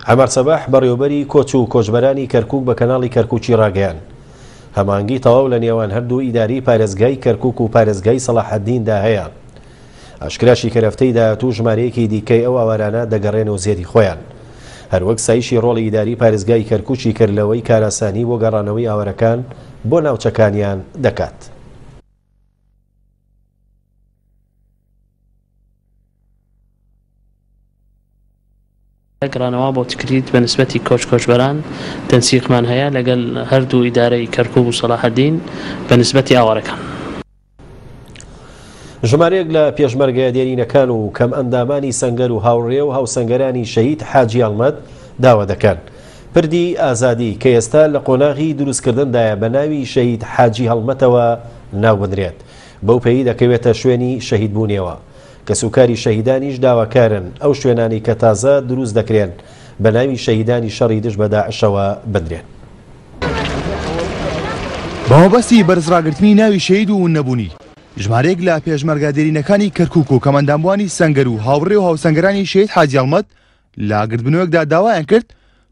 عەمار سەباح، بەڕێوەبەری کۆچ و کۆچبەرانی کەرکوک بە کەناڵی کەرکوکی ڕاگەیاند، هەماهەنگی تەواو لە نێوان هەردوو ئیدارەی پارێزگای کەرکوک و پارێزگای سەڵاحەدیندا هەیە. ئاشکراشی کرد هەفتەی داهاتوو ژمارەیەکی دیکەی ئەو ئاوارانە دەگەڕێنەوە زێدی خۆیان. هەروەک ستایشی ڕۆڵی ئیداری پارێزگای کەرکوکی کرد لەوەی کارئاسانی بۆ گەڕانەوەی ئاوارەکان بۆ ناوچەکانیان دەکات. گەڕانەوە بۆ تکریت بە نسبەتی کۆچ کۆچبەران تەنسیقمان هەیە لەگەل هەردوو ئیدارەی کەرکوک و سەلاحەدین بە نسبەتی ئاوارەکان. ژمارەیەک لە پێشمەرگە دێرینەکان و کەمئەندامانی سەنگەر و هاوڕێ و هاوسەنگەرانی شەهید حاجی هەڵمەت داوا دەکەن پردی ئازادی کە ئێستا لە قۆناغی دروستکردندایە بە ناوی شەهید حاجی هەڵمەتەوە ناوبنرێت بەو پێی دەکەوێتە شوێنی شەهیدبوونیەوە. کەسوکاری شەهیدانیش داواکارن ئەو شوێنانەی کە تازە دروست دەکرێن بە ناوی شەهیدانی شەڕی دژ بە داعشەوە بنرێن. بە مەبەستی بەرزڕاگرتنی ناوی شەهید و وننەبوونی ژمارەیەک لە پێشمەرگە دێرینەکانی کەرکوک و کەمئەندامبووانی سەنگەر و هاوڕێ و هاوسەنگەرانی شەهید حاجی هەڵمەت لە گردبوونەوەیەکدا داوایان کرد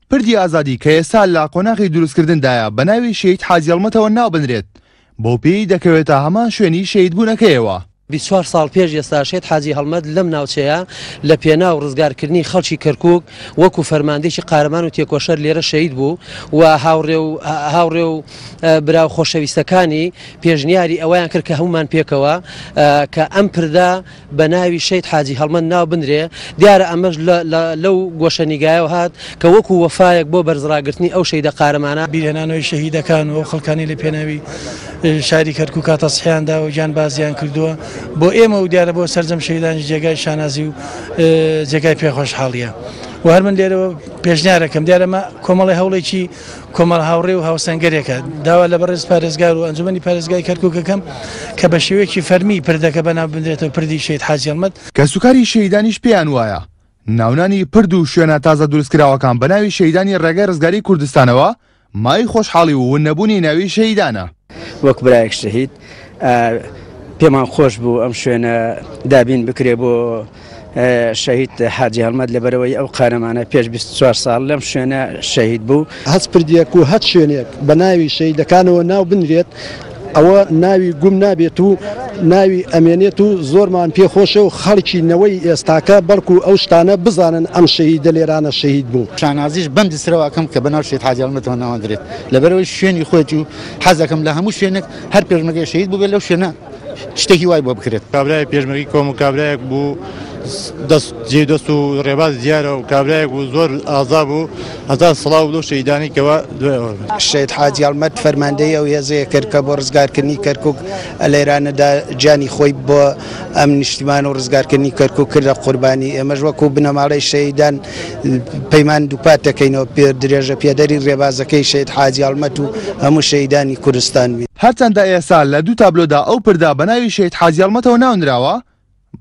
پردی ئازادی کە ئێستا لە قۆناغی دروستکردندایە بە ناوی شەهید حاجی هەڵمەتەوە ناوبنرێت، بەوپێیەی دەکەوێتە هەمان شوێنی شەهیدبوونەکەیەوە. 24 ساڵ پێش ئێستا شەهید حاجی هەڵمەت لەم ناوچەیە لە پێناو ڕزگارکردنی خەڵکی کەرکوک وەکو فەرماندەیەکی قارەمان و تێکۆشەر لێرە شەهید بوو و هاوڕێ و هاوڕێ و برا و خۆشەویستەکانی پێشنیاری ئەوەیان کرد کە هەموومان پێکەوە کە ئەم پردە بە ناوی شەهید حاجی هەڵمەت ناو بنرێ، دیارە ئەمەش لەو گۆشەنیگایەوە هات کە وەکو وەفایەک بۆ بەرزڕاگرتنی ئەو شەهیدە قارەمانە. بیرهێنانەوەی شەهیدەکان و ئەو خەڵکانەی لە پێناوی شاری کەرکوکا تەزحیان داوە و گیانبازیان کردووە بۆ ئێمە و دیارە بۆ سەرجەم شەهیدانیش جێگای شانازی و جێگای پێخۆشحاڵیە و هەر من لێرەوە پێشنیارەکەم دیارە ئەمە کۆمەڵی هەوڵێکی کۆمەڵ هاوڕێ و هاوسەنگەرێکە، داوا لە بەڕێز پارێزگار و ئەنجومەنی پارێزگای کەرکوک ئەکەم کە بە شێوەیەکی فەرمی پردەکە بەناو بنرێتەوە پردی شەهید حاجی هەڵمەت. کەسوکاری شەهیدانیش پێیان وایە ناونانی پرد و شوێنە تازە دروستکراوەکان بە ناوی شەهیدانی ڕێگای ڕزگاری کوردستانەوە مایەی خۆشحاڵی و ون نەبوونی ناوی شەهیدانە. وەک برایەک شەهید پێمان خۆش بوو ئەم شوێنە دابین بکرێ بۆ شەهید حاجی هەڵمەت لەبەرئەوەی ئەو قارەمانە پێش 24 ساڵ لەم شوێنە شەهید بوو. هەچ پردێک و هەچ شوێنێک بە ناوی شەهیدەکانەوە ناو بنرێت ئەوە ناوی گوم نابێت و ناوی ئەمێنێت و زۆرمان پێ خۆشە و خەڵکی نەوەی ئێستاکە بەڵکو ئەو شتانە بزانن ئەم شەهیدە لێرانە شەهید بوو. شانازیش بەم دسرەوە ئەکەم کە بەناو شەهید حاجی هەڵمەتەوە ناوەندرێت لەبەرئەوەی شوێنی خۆیەتی و حەزەکەم لە هەموو شوێنێک هەر پێشمەرگەیەک شەهید بووبێت لەو شوێنە شتێکی وای بۆ بکرێت. کابرای پێشمەرگەی کۆمەڵ کابرایەک بوو دەست جێ دەست و ڕێباز دیارە و کابرایەک بوو زۆر ئازا بوو هەزار سڵاو لەو شەهیدانەی کەوا دوای ئەوە. شەهید حاجی هەڵمەت فەرماندەی ئەو هێزەیە کرد کە بۆ ڕزگارکردنی کەرکوک لەێرانەدا گیانی خۆی بۆ ئەم نیشتیمان و ڕزگارکردنی کەرکوک کردە قوربانی ئێمەش وەکو بنەماڵەی شەهیدان پەیمان دووپات دەکەینەوە درێژە پێدەری ڕێبازەکەی شەهید حاجی هەڵمەت و هەموو شەهیدانی کوردستان بین. هەرچەندە ئێستا لە دوو تابلۆدا ئەو پردە بە ناوی شەهید حاجی هەڵمەتەوە ناونراوە،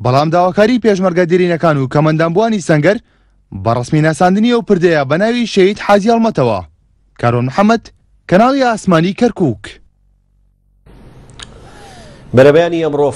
بەڵام داواکاریی پێشمەرگە دێرینەکان و کەمئەندامبووانی سەنگەر بە ڕەسمی ناساندنی ئەو پردەیە بە ناوی شەهید حاجی هەڵمەتەوە. کاروان محەمەد، کەناڵی ئاسمانی کەرکووک. بەرەبەیانی ئەمڕۆ.